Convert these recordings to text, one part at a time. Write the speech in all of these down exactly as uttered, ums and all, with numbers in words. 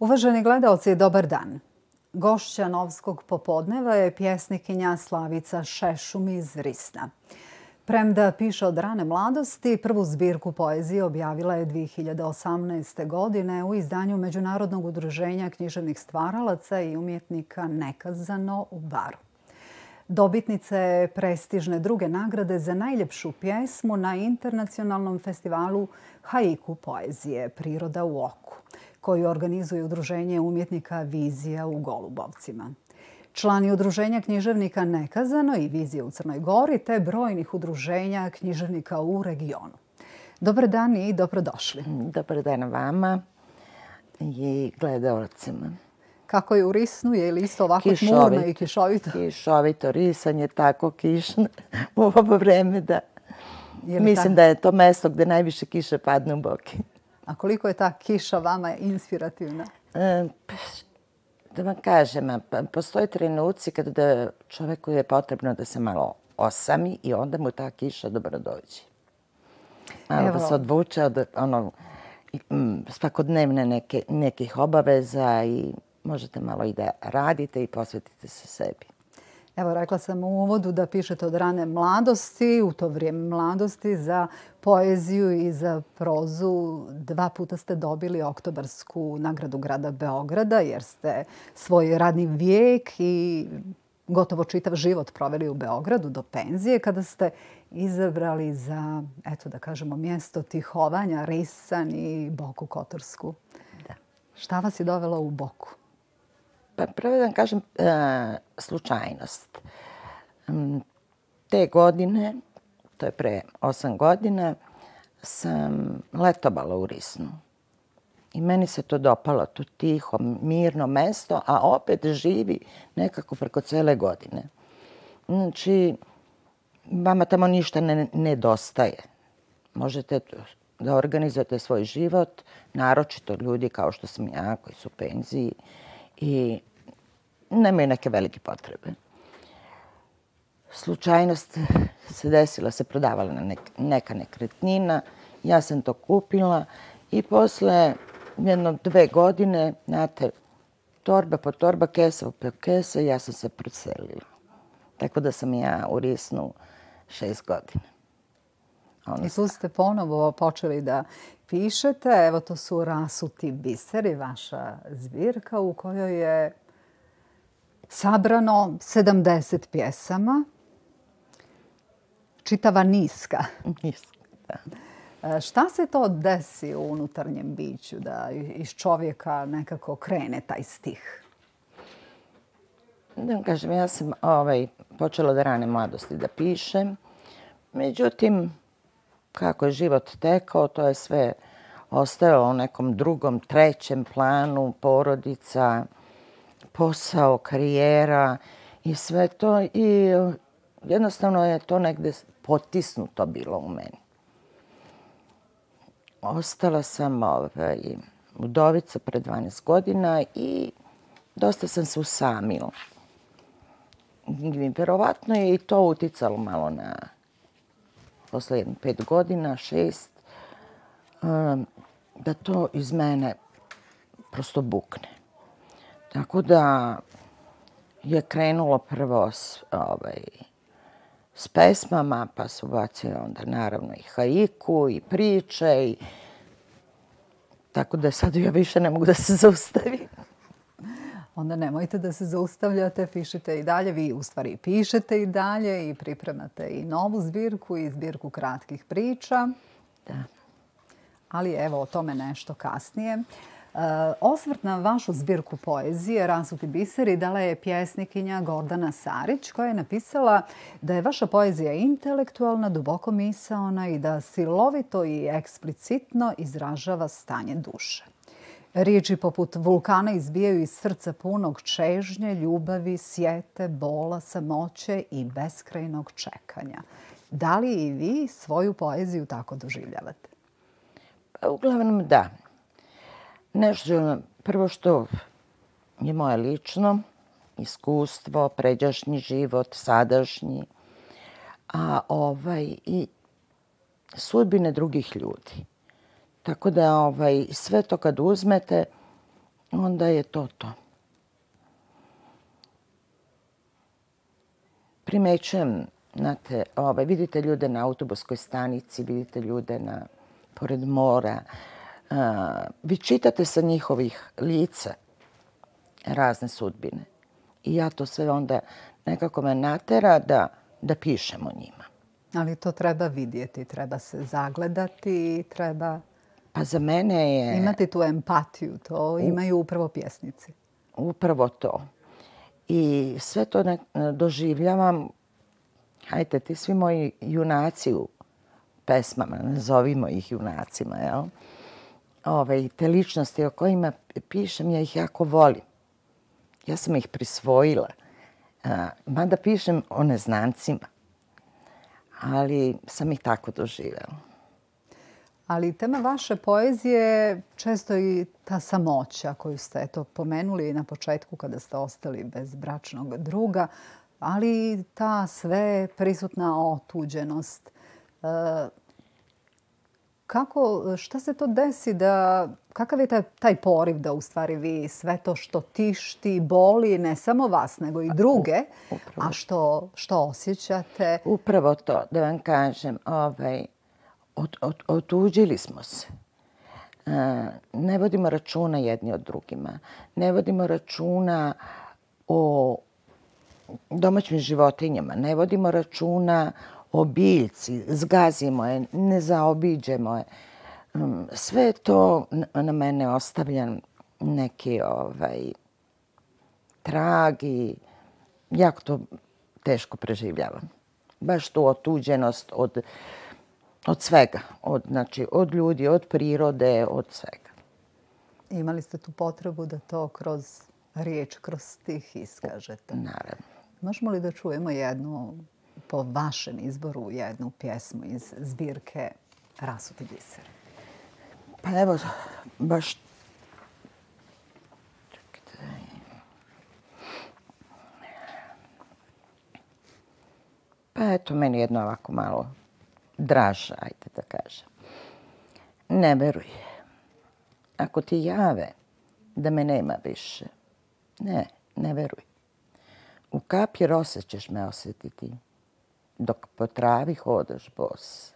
Uvaženi gledaoci, dobar dan. Gošća Novskog popodneva je pjesnikinja Slavica Šešum iz Risna. Premda piše od rane mladosti, prvu zbirku poezije objavila je dve hiljade osamnaeste. godine u izdanju Međunarodnog udruženja književnih stvaralaca i umjetnika Nekazano u Baru. Dobitnica je prestižne druge nagrade za najljepšu pjesmu na internacionalnom festivalu haiku poezije Priroda u oku, koju organizuje Udruženje umjetnika Vizija u Golubovcima. Člani Udruženja književnika Nekazano i Vizije u Crnoj Gori te brojnih udruženja književnika u regionu. Dobar dan i dobrodošli. Dobar dan vama i gledaocima. Kako je u Risnu? Je li isto ovako tmurno i kišovito? Kišovito. Risan je tako kišno u ovo vreme da mislim da je to mesto gde najviše kiše padne u Boki. A koliko je ta kiša vama inspirativna? Da vam kažem, postoje trenuci kada čoveku je potrebno da se malo osami i onda mu ta kiša dobro dođe. Malo da se odvuče od svakodnevne nekih obaveza i možete malo i da radite i posvetite se sebi. Evo, rekla sam u uvodu da pišete od rane mladosti, u to vrijeme mladosti, za poeziju i za prozu. Dva puta ste dobili Oktobarsku nagradu grada Beograda jer ste svoj radni vijek i gotovo čitav život proveli u Beogradu do penzije kada ste izabrali za, eto da kažemo, mjesto tihovanja Risan i Boku Kotorsku. Da. Šta vas je dovelo u Boku? Pa prvo da vam kažem slučajnost. Te godine, to je pre osam godina, sam letovala u Risnu. I meni se to dopalo, to tiho, mirno mesto, a opet živi nekako preko cele godine. Znači, vama tamo ništa ne nedostaje. Možete da organizujete svoj život, naročito ljudi kao što sam ja, koji su u penziji, i nemaju neke velike potrebe. Slučajnost se desila, se prodavala neka nekretnina, ja sam to kupila i posle jedno dve godine, znate, torba po torba, kesa po kesa, ja sam se preselila. Tako da sam ja u Risnu šest godina. I tu ste ponovo počeli da pišete. Evo, to su Rasuti biseri, vaša zbirka u kojoj je sabrano sedamdeset pjesama. Čitava niska. Niska, da. Šta se to desi u unutarnjem biću da iz čovjeka nekako krene taj stih? Da vam kažem, ja sam počela od rane mladosti da pišem. Međutim, kako je život tekao, to je sve ostajalo u nekom drugom, trećem planu, porodica, posao, karijera i sve to. I jednostavno je to negde potisnuto bilo u meni. Ostala sam udovica pre dvanaest godina i dosta sam se usamila. Verovatno je i to uticalo malo na posle jedno pet godina, šest, da to iz mene prosto bukne. Tako da je krenulo prvo s pesmama, pa se ubacio onda naravno i haiku i priče. Tako da sad ja više ne mogu da se zaustavim. Onda nemojte da se zaustavljate, pišite i dalje. Vi u stvari pišete i dalje i pripremate i novu zbirku i zbirku kratkih priča. Da. Ali evo o tome nešto kasnije. Osvrt na vašu zbirku poezije Rasuti biseri dala je pjesnikinja Gordana Sarić, koja je napisala da je vaša poezija intelektualna, duboko misaona i da silovito i eksplicitno izražava stanje duše. Riječi poput vulkana izbijaju iz srca punog čežnje, ljubavi, sjete, bola, samoće i beskrajnog čekanja. Da li i vi svoju poeziju tako doživljavate? Pa uglavnom da. Nešto, prvo što je moje lično iskustvo, pređašnji život, sadašnji, a ovaj i sudbine drugih ljudi. Tako da ovaj, sve to kad uzmete, onda je to to. Primećujem, znate, ovaj, vidite ljude na autobuskoj stanici, vidite ljude na, pored mora. A, vi čitate sa njihovih lica razne sudbine. I ja to sve onda nekako me natera da, da pišem o njima. Ali to treba vidjeti, treba se zagledati, treba... Pa za mene je... Imati tu empatiju, to imaju upravo pjesnici. Upravo to. I sve to ne, doživljavam, hajte, ti svi moji junaci u pesmama, nazovimo ih junacima, jel? Ove, te ličnosti o kojima pišem, ja ih jako volim. Ja sam ih prisvojila. A, mada pišem o neznancima, ali sam ih tako doživjela. Ali tema vaše poezije često i ta samoća koju ste eto, pomenuli na početku kada ste ostali bez bračnog druga, ali ta sve prisutna otuđenost. E, kako, šta se to desi da, kakav je taj, taj poriv da u stvari vi sve to što tišti, boli ne samo vas nego i druge, Upravo. a što, što osjećate? Upravo to, da vam kažem, ovaj, Od, od, otuđili smo se. E, ne vodimo računa jedni od drugima. Ne vodimo računa o domaćim životinjama. Ne vodimo računa o biljci. Zgazimo je, ne zaobiđemo je. Sve to na mene ostavlja neki ovaj, trag i jako to teško preživljavam. Baš tu otuđenost od Od svega. Od, znači, od ljudi, od prirode, od svega. Imali ste tu potrebu da to kroz riječ, kroz stih iskažete? Naravno. Možemo li da čujemo jednu, po vašem izboru, jednu pjesmu iz zbirke Rasuti biser? Pa evo, baš... Pa eto, meni jedno ovako malo draža, ajde da kažem. Ne veruj. Ako ti jave da me nema više, ne, ne veruj. U kapi rose ćeš me osjetiti, dok po travi hodaš bos.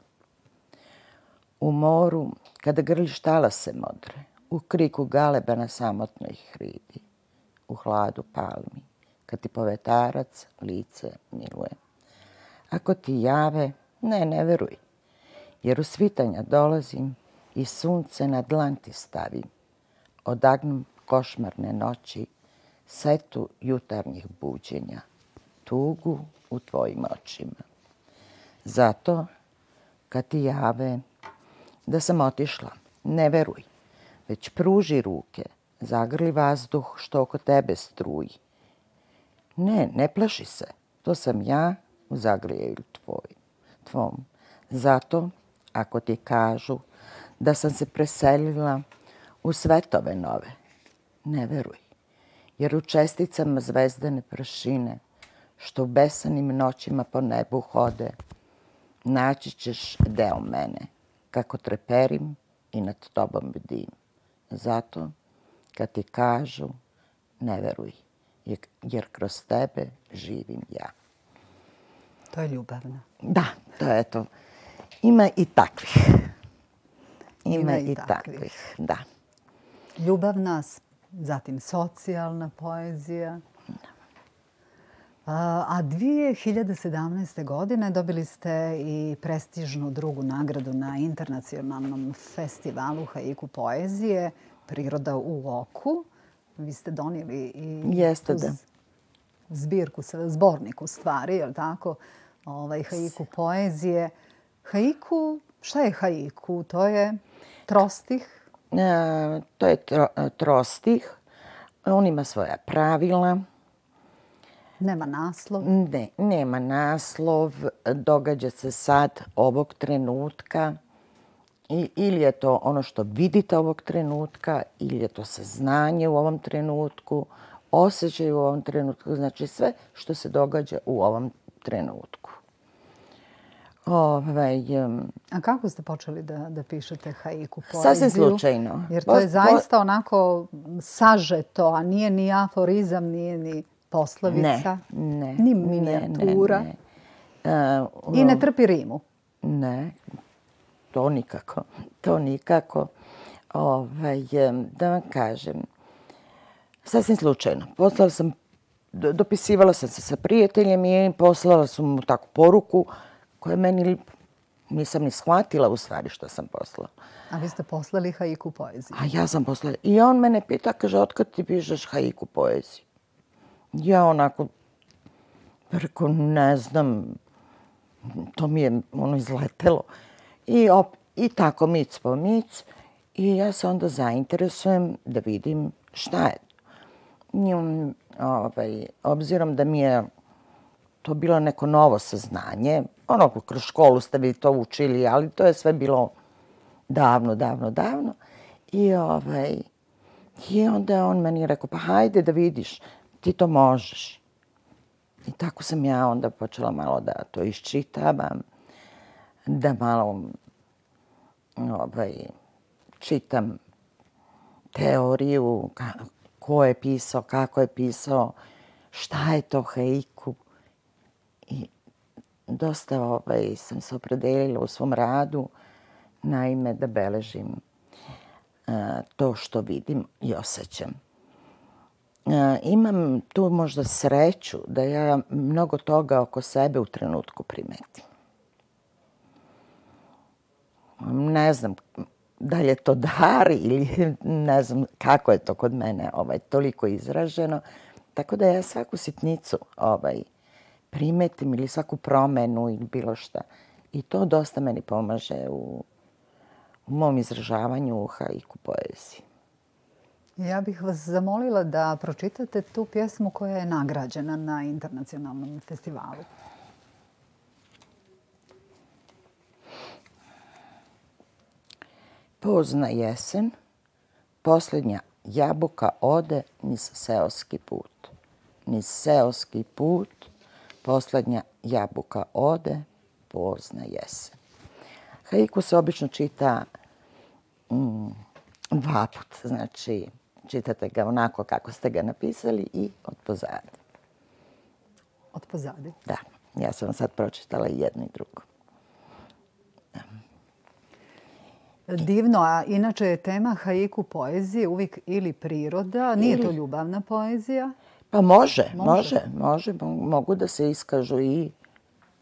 U moru, kada grliš talase modre, u kriku galeba na samotnoj hridi, u hladu palmi, kad ti povetarac lice miluje. Ako ti jave, ne, ne veruj, jer u svitanja dolazim i sunce na dlan ti stavim. Odagnem košmarne noći, setu jutarnjih buđenja, tugu u tvojim očima. Zato, kad ti jave da sam otišla, ne veruj, već pruži ruke, zagrli vazduh što oko tebe struji. Ne, ne plaši se, to sam ja u zagrljaju tvoj. Tvom. Zato, ako ti kažu da sam se preselila u svetove nove, ne veruj, jer u česticama zvezdane prašine, što u besanim noćima po nebu hode, naći ćeš deo mene, kako treperim i nad tobom bdim. Zato, kad ti kažu, ne veruj, jer kroz tebe živim ja. To je ljubavno. Da, to je to. Ima i takvih. Ima, Ima i, i takvih. takvih. Da. Ljubavna, zatim socijalna poezija. A, a dvije hiljade sedamnaeste. godine dobili ste i prestižnu drugu nagradu na internacionalnom festivalu haiku poezije Priroda u oku. Vi ste donijeli i Jeste, da. zbirku, zbornik u stvari, je li tako? Ovaj, haiku poezije. Haiku, šta je haiku? To je trostih? E, to je tro, trostih. On ima svoja pravila. Nema naslov? Ne, nema naslov. Događa se sad, ovog trenutka. I, ili je to ono što vidite ovog trenutka, ili je to saznanje u ovom trenutku, osjećaj u ovom trenutku, znači sve što se događa u ovom trenutku. Ovaj, um, A kako ste počeli da, da pišete haiku poeziju? Sasvim slučajno. Jer to je zaista onako sažeto, a nije ni aforizam, nije ni poslovica, ne, ne, ni minijatura. Ne, ne. Uh, I ne trpi rimu. Ne, to nikako. To nikako. Ovaj, da vam kažem, sasvim slučajno. Poslala sam, dopisivala sam se sa prijateljem i poslala sam mu takvu poruku koja meni, nisam ni shvatila u stvari što sam poslala. A vi ste poslali haiku poeziju? A ja sam poslala. I on mene pita, kaže, otkad ti pišeš haiku poeziju? Ja onako, rekao, ne znam, to mi je ono izletelo. I, op, i tako mic po mic. I ja se onda zainteresujem da vidim šta je. I, um, ovaj, obzirom da mi je to bilo neko novo saznanje, ono, kroz školu ste vi to učili, ali to je sve bilo davno, davno, davno. I, ovaj, i onda je on meni rekao, pa hajde da vidiš, ti to možeš. I tako sam ja onda počela malo da to iščitavam, da malo ovaj, čitam teoriju, ko je pisao, kako je pisao, šta je to haiku. I dosta ovaj, sam se opredelila u svom radu, naime da beležim uh, to što vidim i osjećam. Uh, imam tu možda sreću da ja mnogo toga oko sebe u trenutku primetim. Ne znam da li je to dar ili ne znam kako je to kod mene ovaj, toliko izraženo. Tako da ja svaku sitnicu ovaj, primetim ili svaku promenu ili bilo šta. I to dosta meni pomaže u, u mom izražavanju u haiku poeziji. Ja bih vas zamolila da pročitate tu pjesmu koja je nagrađena na internacionalnom festivalu. Pozna jesen, posljednja jabuka ode niz seoski put. Niz seoski put, posljednja jabuka ode, pozna jesen. Haiku se obično čita mm, dva put, znači čitate ga onako kako ste ga napisali i od pozadi. Od pozadi? Da, ja sam vam sad pročitala i jedno i drugo. Divno, a inače je tema haiku poezije uvijek ili priroda, nije to ljubavna poezija? Pa može, može, može. Mogu da se iskažu i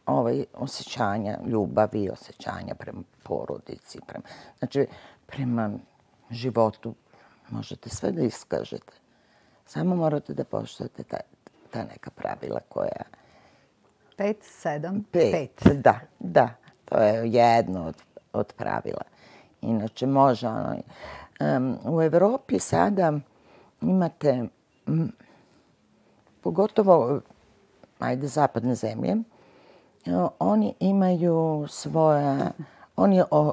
ovaj, osjećanja ljubavi, osjećanja prema porodici. Prema, znači, prema životu možete sve da iskažete. Samo morate da poštujete ta, ta neka pravila koja... Pet, sedam, pet. pet. Da, da. To je jedno od, od pravila. Inače, može ono... Um, u Evropi sada imate... M, pogotovo, ajde, zapadne zemlje, oni imaju svoja, oni o,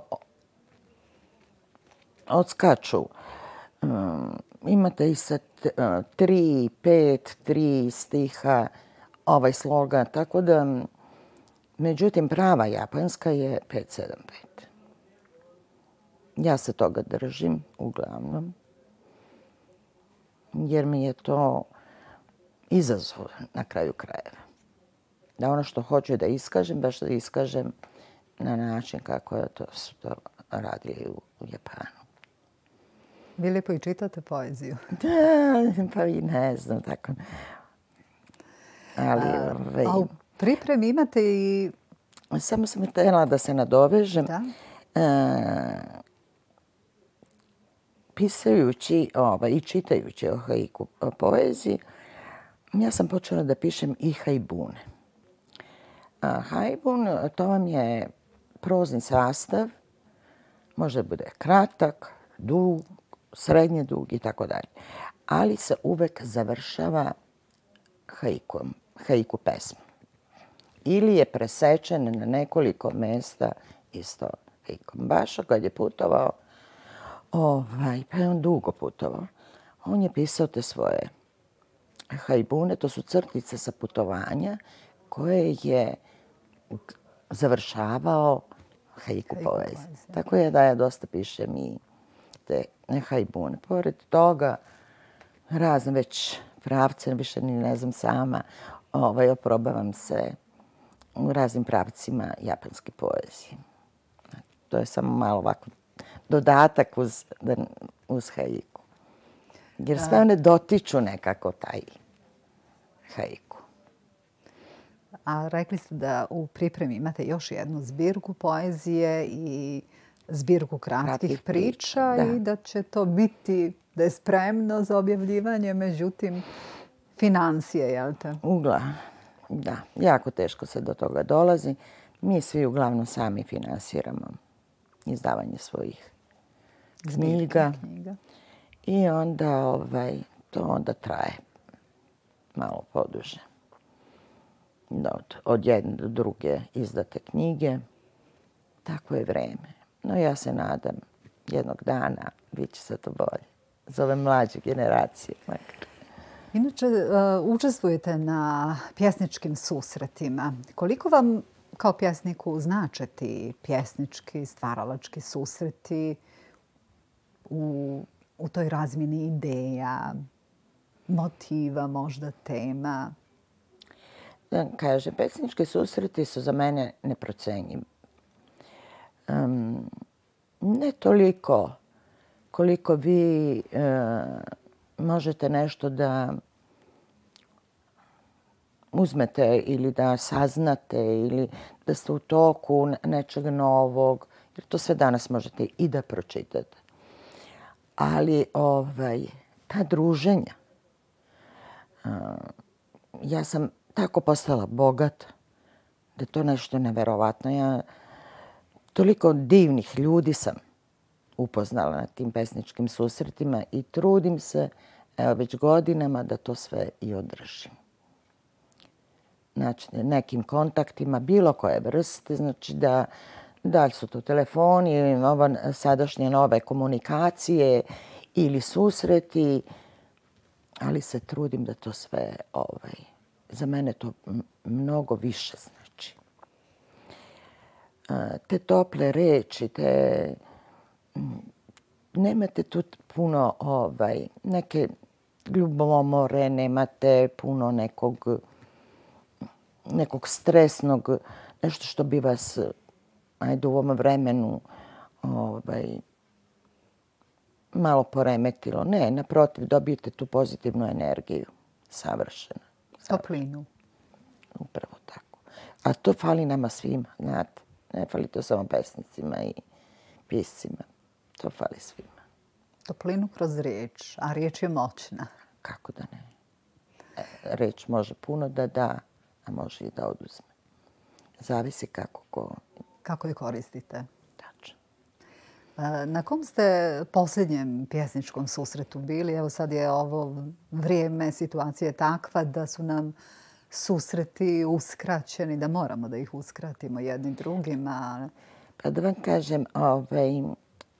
odskaču. Um, imate i sa t, uh, tri, pet, tri stiha ovaj sloga, tako da, međutim, prava japanska je pet, sedam, pet. Ja se toga držim, uglavnom, jer mi je to izazov na kraju krajeva. Da ono što hoću da iskažem, baš da iskažem na način kako je to, su to radili u, u Japanu. Vi lijepo i čitate poeziju. Da, pa i ne znam tako. Ali, a, ove, a u pripremi imate i... Samo sam htjela da se nadovežem. Da. E, pisajući ovaj, i čitajući o haiku o poeziji, ja sam počela da pišem i haibune. A haibun, to vam je prozni sastav, može da bude kratak, dug, srednje dug i tako dalje. Ali se uvek završava haikom, haiku pesmu. Ili je presečen na nekoliko mesta isto haikom. Baš kad je putovao, ovaj, pa je on dugo putovao, on je pisao te svoje haibune, to su crtice sa putovanja koje je završavao haiku poezije. Tako je da ja dosta pišem i te haibune. Pored toga, razne već pravce, više ni ne znam sama, ovaj, oprobavam se u raznim pravcima japanske poezije. To je samo malo ovako dodatak uz, uz haiku. Jer sve one dotiču nekako taj haiku. A rekli ste da u pripremi imate još jednu zbirku poezije i zbirku kratkih priča i da će to biti, da je spremno za objavljivanje, međutim, financije, jel te? Uglavnom, da. Jako teško se do toga dolazi. Mi svi uglavnom sami finansiramo izdavanje svojih knjiga. I onda ovaj, to onda traje malo poduže. Od, od jedne do druge izdate knjige. Tako je vreme. No ja se nadam jednog dana bit će se to bolje. Za ove mlađe generacije. Inače, učestvujete na pjesničkim susretima. Koliko vam kao pjesniku znače ti pjesnički, stvaralački susreti u, u toj razmjeni ideja, motiva, možda tema? Da kažem, pjesnički susreti su za mene neprocenjivi. Um, ne toliko koliko vi uh, možete nešto da uzmete ili da saznate ili da ste u toku nečeg novog, jer to sve danas možete i da pročitate. Ali ovaj, ta druženja, uh, ja sam tako postala bogata da je to nešto neverovatno. Ja toliko divnih ljudi sam upoznala na tim pesničkim susretima i trudim se, evo već godinama, da to sve i održim. Znači, nekim kontaktima, bilo koje vrste, znači da, da li su to telefoni, ova sadašnje nove komunikacije ili susreti, ali se trudim da to sve, ovaj, za mene to mnogo više znači. Te tople reči, te... Nemate tu puno ovaj, neke ljubomore, nemate puno nekog, nekog stresnog, nešto što bi vas, ajde, u ovom vremenu ovaj, malo poremetilo. Ne, naprotiv, dobijete tu pozitivnu energiju. Savršeno. Toplinu. Upravo tako. A to fali nama svima, znate. Ne fali to samo pesnicima i piscima. To fali svima. Toplinu kroz riječ, a riječ je moćna. Kako da ne? Riječ može puno da da, a može i da oduzme. Zavisi kako ko... Kako je koristite. Tačno. Na kom ste posljednjem pjesničkom susretu bili? Evo sad je ovo vrijeme, situacija je takva da su nam susreti uskraćeni, da moramo da ih uskratimo jednim drugima. Pa da vam kažem, ovaj,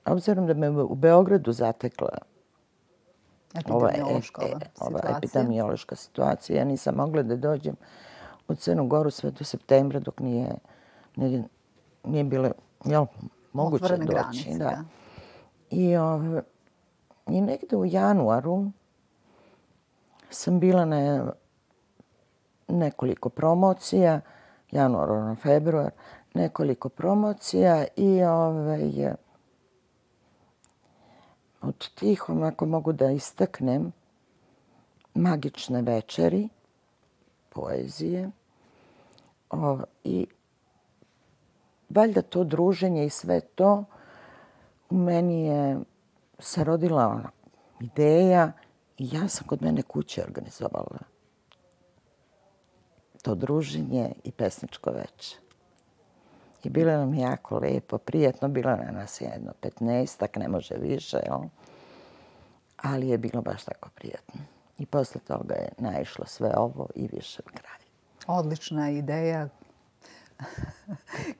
obzirom da me u Beogradu zatekla epidemiološka ova, e, ova epidemiološka situacija, ja nisam mogla da dođem u Crnu Goru sve do septembra dok nije, nije, nije bilo jel, moguće otvorene doći. Granice, da. da. I, ov, I negde u januaru sam bila na nekoliko promocija, januar, na februar, nekoliko promocija i ovaj, od tih, ako mogu da istaknem, magične večeri, poezije o, i valjda to druženje i sve to u meni je se rodila ona ideja i ja sam kod mene kuće organizovala to druženje i pesničko večer. I bilo nam jako lepo, prijatno, bilo na nas jedno petnaestak, ne može više, jel? Ali je bilo baš tako prijatno. I posle toga je naišlo sve ovo i više od kraja. Odlična ideja.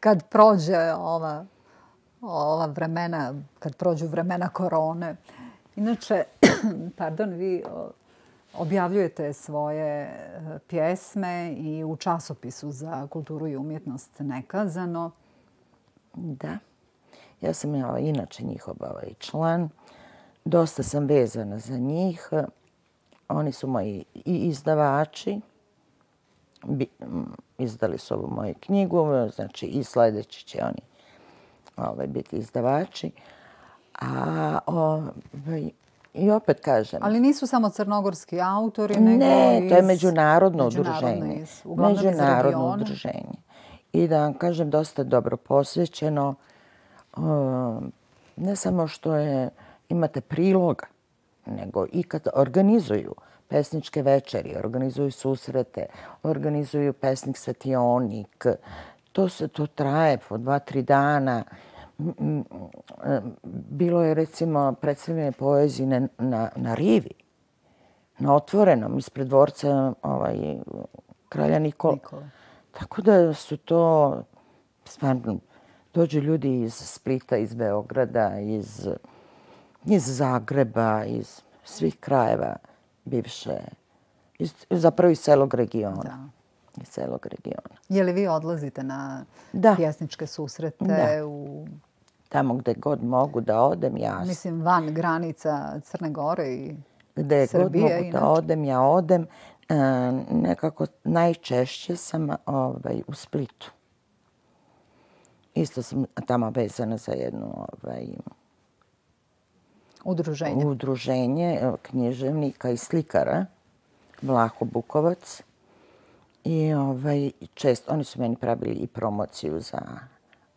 Kad prođe ova, ova vremena, kad prođu vremena korone. Inače, pardon, vi objavljujete svoje pjesme i u časopisu za kulturu i umjetnost Nekazano. Da. Ja sam ja, inače njihov ovaj član. Dosta sam vezana za njih. Oni su moji i izdavači. Bi, izdali su ovu moju knjigu, znači i sljedeći će oni ovaj, biti izdavači. A ovaj, i opet kažem... Ali nisu samo crnogorski autori, nego ne, iz... to je međunarodno, međunarodno udruženje. Iz, uglavnom međunarodno iz regiona. udruženje. I da vam kažem, dosta dobro posvećeno. Um, ne samo što je, imate priloga, nego i kad organizuju pesničke večeri, organizuju susrete, organizuju pesnik svetionik. To se to traje po dva, tri dana. Bilo je recimo predstavljanje poezije na, na, na rivi, na otvorenom, ispred dvorca ovaj, kralja Nikola. Nikola. Tako da su to, stvarno, dođu ljudi iz Splita, iz Beograda, iz, iz Zagreba, iz svih krajeva bivše, iz, zapravo iz celog regiona. Da. Iz celog regiona. Je li vi odlazite na da. pjesničke susrete da. u... Tamo gde god mogu da odem, ja... Mislim, van granica Crne Gore i gde Srbije. Gde god mogu da odem, ja odem. E, nekako najčešće sam ovaj, u Splitu. Isto sam tamo vezana za jedno ovaj, udruženje. udruženje književnika i slikara, Vlaho Bukovac. I ovaj, često, oni su meni pravili i promociju za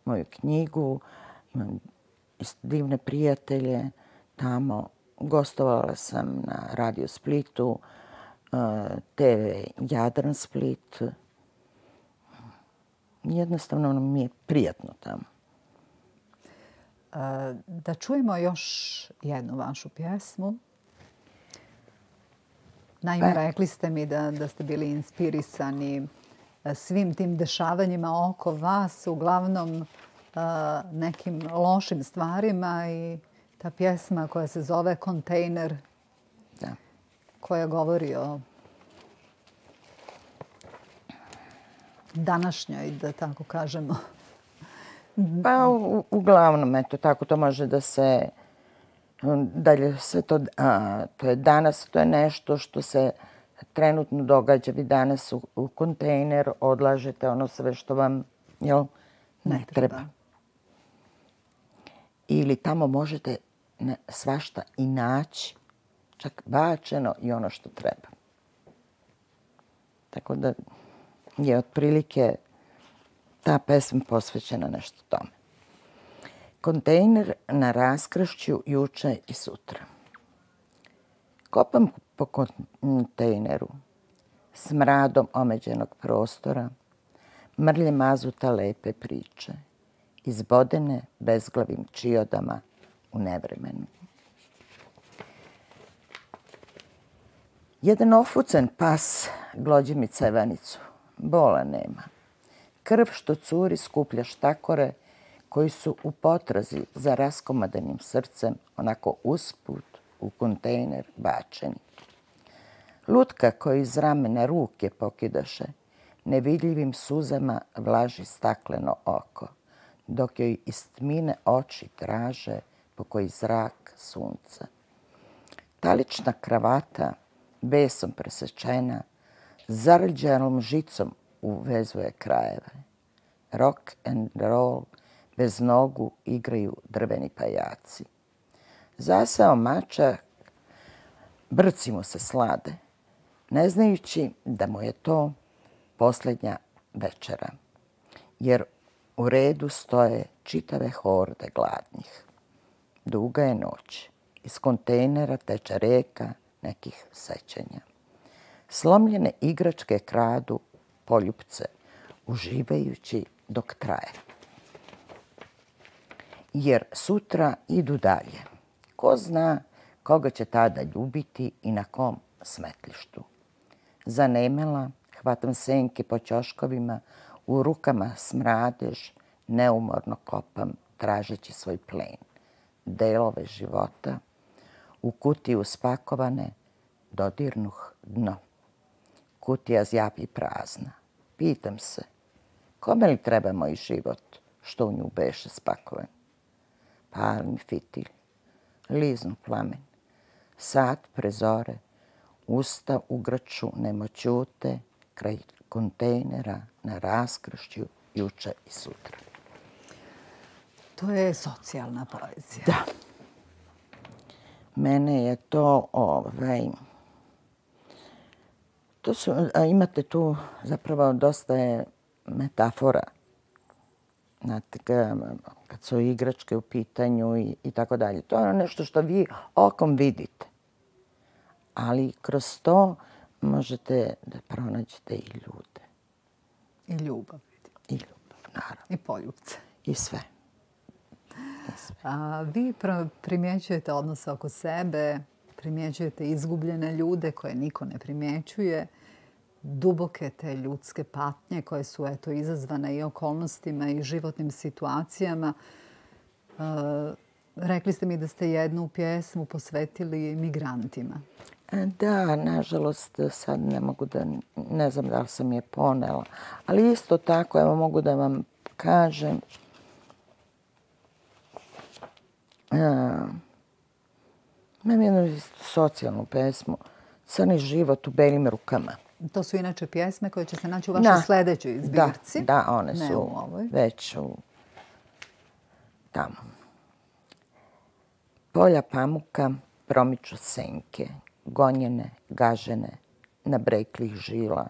moju knjigu. Imam divne prijatelje tamo. Gostovala sam na Radio Splitu, te ve Jadran Split. Jednostavno mi je prijatno tamo. Da čujemo još jednu vašu pjesmu. Naime, rekli ste mi da, da ste bili inspirisani svim tim dešavanjima oko vas, uglavnom nekim lošim stvarima, i ta pjesma koja se zove Kontejner, da. koja govori o današnjoj, da tako kažemo. Pa u, uglavnom, eto, tako to može da se... Dalje se to, a, to je danas, to je nešto što se trenutno događa. Vi danas u, u kontejner odlažete ono sve što vam jel, ne, ne treba. treba. Ili tamo možete ne, svašta i naći, čak bačeno i ono što treba. Tako da je otprilike ta pesma posvećena nešto tome. Kontejner na raskršću juče i sutra. Kopam po kontejneru, smradom omeđenog prostora, mrlje mazuta lepe priče, izbodene bezglavim čiodama u nevremenu. Jedan ofucen pas glođi mi cevanicu, bola nema. Krv što curi skuplja štakore koji su u potrazi za raskomadanim srcem onako usput u kontejner bačeni. Lutka koju iz ramena ruke pokidaše, nevidljivim suzama vlaži stakleno oko, dok joj iz tmine oči traže po koji zrak sunca. Talična kravata, besom presečena, zarđalom žicom uvezuje krajeve. Rock and roll, bez nogu igraju drveni pajaci. Zasao mačak, brci mu se slade, ne znajući da mu je to posljednja večera, jer u redu stoje čitave horde gladnih. Duga je noć, iz kontejnera teče reka nekih sećanja. Slomljene igračke kradu poljupce, uživajući dok traje. Jer sutra idu dalje. Ko zna koga će tada ljubiti i na kom smetlištu. Zanemela, hvatam senke po ćoškovima, u rukama smradež, neumorno kopam, tražeći svoj plen. Delove života, u kutiju spakovane, dodirnuh dno. Kutija zjapi prazna. Pitam se, kome li treba moj život, što u nju beše spakovan? Palim fitilj, liznu plamen, sat prezore, usta u grču nemoćute, kraj kontejnera na raskršću juče i sutra. To je socijalna poezija. Da. Mene je to, ovaj, to su, a imate tu zapravo dosta je metafora. Znate, kad su igračke u pitanju i, i tako dalje. To je nešto što vi okom vidite. Ali kroz to možete da pronađete i ljude. I ljubav. I ljubav, naravno. I poljubce. I sve. A vi primjećujete odnose oko sebe, primjećujete izgubljene ljude koje niko ne primjećuje, duboke te ljudske patnje koje su eto izazvane i okolnostima i životnim situacijama. E, rekli ste mi da ste jednu pjesmu posvetili migrantima. Da, nažalost, sad ne mogu da, ne znam da li sam je ponela, ali isto tako, evo mogu da vam kažem, imam jednu socijalnu pesmu, Crni život u belim rukama. To su inače pjesme koje će se naći u vašoj sljedećoj zbirci. Da, da, one su već u tamo. Polja pamuka promiču senke, gonjene, gažene, na breklih žila,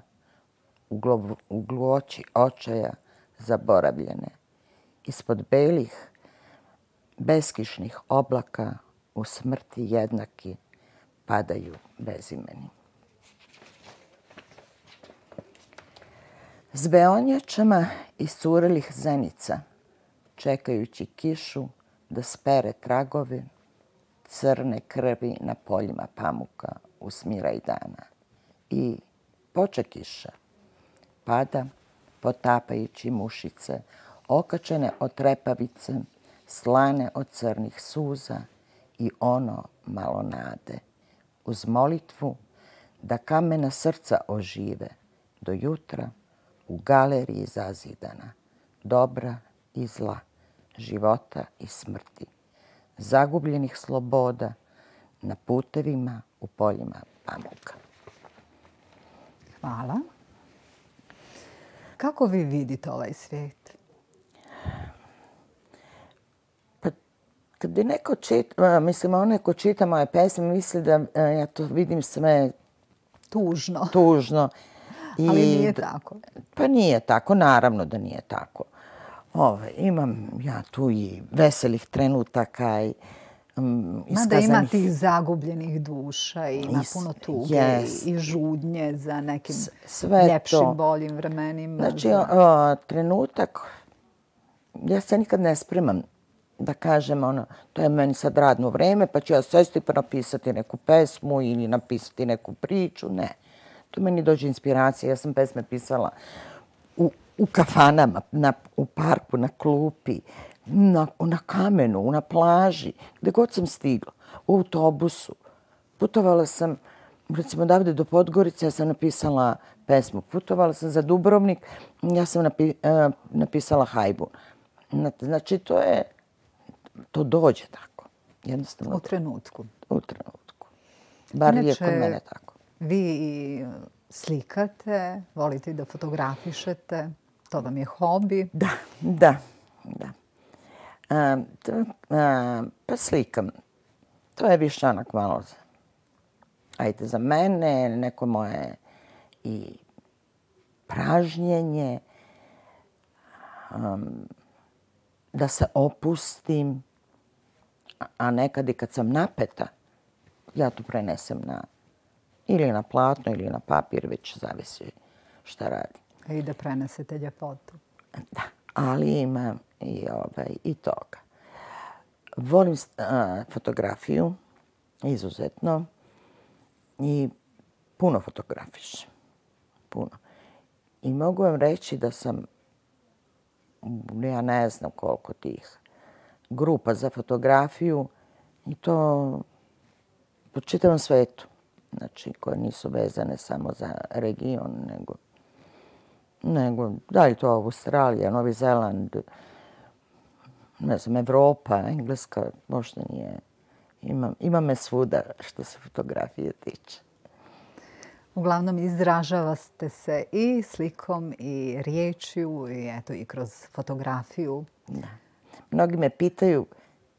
u gluoći očaja zaboravljene. Ispod belih beskišnih oblaka u smrti jednaki padaju bezimeni. S beonjačama iscurelih zenica, čekajući kišu da spere tragove crne krvi na poljima pamuka u smiraj dana. I poče kiša, pada potapajući mušice, okačene od trepavice, slane od crnih suza i ono malo nade. Uz molitvu da kamena srca ožive do jutra u galeriji zazidana, dobra i zla, života i smrti, zagubljenih sloboda na putevima u poljima pamuka. Hvala. Kako vi vidite ovaj svijet? Pa, kad bi neko čita, mislim, onaj ko čita moje pesme, misli da ja to vidim sve tužno. Tužno. I, ali nije tako. Pa nije tako, naravno da nije tako. Ove, imam ja tu i veselih trenutaka i um, iskazanih... Mada ima tih zagubljenih duša i ima puno tuge yes. i žudnje za nekim sve ljepšim, to. boljim vremenima. Znači, za... o, trenutak, ja se nikad ne spremam da kažem, ono, to je meni sad radno vreme, pa ću ja sesti pa napisati neku pesmu ili napisati neku priču. Ne. Tu meni dođe inspiracija. Ja sam pesme pisala u, u kafanama, na, u parku, na klupi, na, na kamenu, na plaži, gde god sam stigla, u autobusu. Putovala sam, recimo, odavde do Podgorice, ja sam napisala pesmu. Putovala sam za Dubrovnik, ja sam napi, uh, napisala hajbu. Znači, to je, to dođe tako. Jednostavno. U trenutku. U trenutku. Bar je kod mene tako. Vi slikate, volite da fotografišete, to vam je hobi. Da, da, da. A, to, a, pa slikam. To je više onak malo za, ajde, za mene, neko moje i pražnjenje, um, da se opustim, a nekad i kad sam napeta, ja to prenesem na ili na platno ili na papir, već zavisi šta radi. I da prenesete ljepotu. Da, ali ima i, ovaj, i toga. Volim a, fotografiju, izuzetno, i puno fotografišem. Puno. I mogu vam reći da sam, ja ne znam koliko tih grupa za fotografiju i to po čitavom svetu. Znači, koje nisu vezane samo za region, nego, nego da li to Australija, Novi Zeland, ne znam, Evropa, Engleska, možda nije. Ima, ima me svuda što se fotografije tiče. Uglavnom, izražavate se i slikom i riječju i eto i kroz fotografiju. Da. Mnogi me pitaju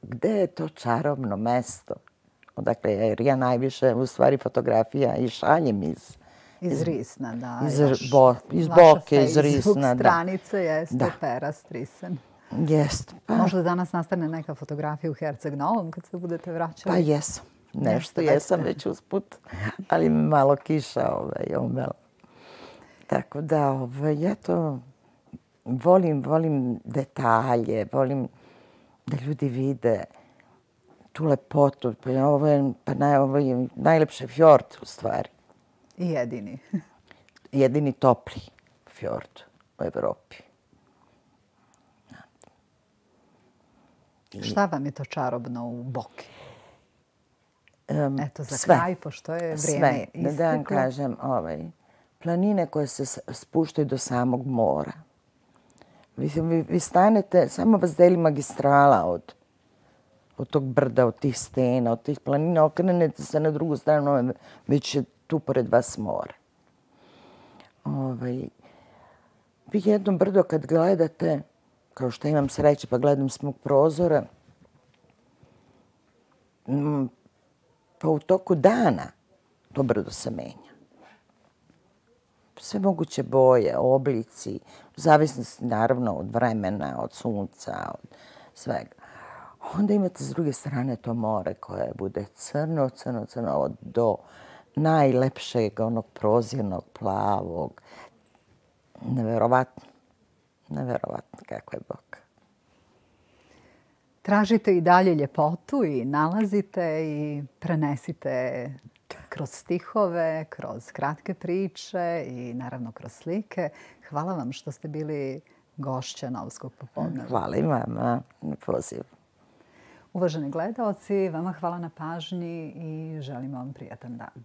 gde je to čarobno mesto. Odakle, jer ja najviše u stvari fotografija i šaljem iz... Iz Risna, da. Iz, bo, iz Boke, iz Risna, da. Stranica jeste da. Perast Risen. Jeste. Pa. Možda danas nastane neka fotografija u Herceg Novom kad se budete vraćali? Pa jesam. Nešto jesam već usput, ali malo kiša ovaj, omela. Tako da, ovaj, ja to volim, volim detalje, volim da ljudi vide tu lepotu. Pa je ovo je, pa naj, ovo je najlepši fjord u stvari. I jedini. Jedini topli fjord u Evropi. I... Šta vam je to čarobno u Boki? Um, Eto, za sve, kraj, pošto je vrijeme sve. isteklo. Da vam kažem, ovaj, planine koje se spuštaju do samog mora. Vi, vi, vi stanete, samo vas deli magistrala od, od tog brda, od tih stena, od tih planina. Okrenete se na drugu stranu, već je tu pored vas mora. Ovaj, vi jedno brdo kad gledate, kao što imam sreće pa gledam s mog prozora, mm, pa u toku dana to brdo se menja. Sve moguće boje, oblici, u zavisnosti naravno od vremena, od sunca, od svega. Onda imate s druge strane to more koje bude crno, crno, crno, do najlepšeg, onog prozirnog, plavog. Neverovatno. Neverovatno kako je Bog. Tražite i dalje ljepotu i nalazite i prenesite kroz stihove, kroz kratke priče i naravno kroz slike. Hvala vam što ste bili gošća Novskog popodneva. Hvala i vama na pozivu. Uvaženi gledaoci, vama hvala na pažnji i želimo vam prijatan dan.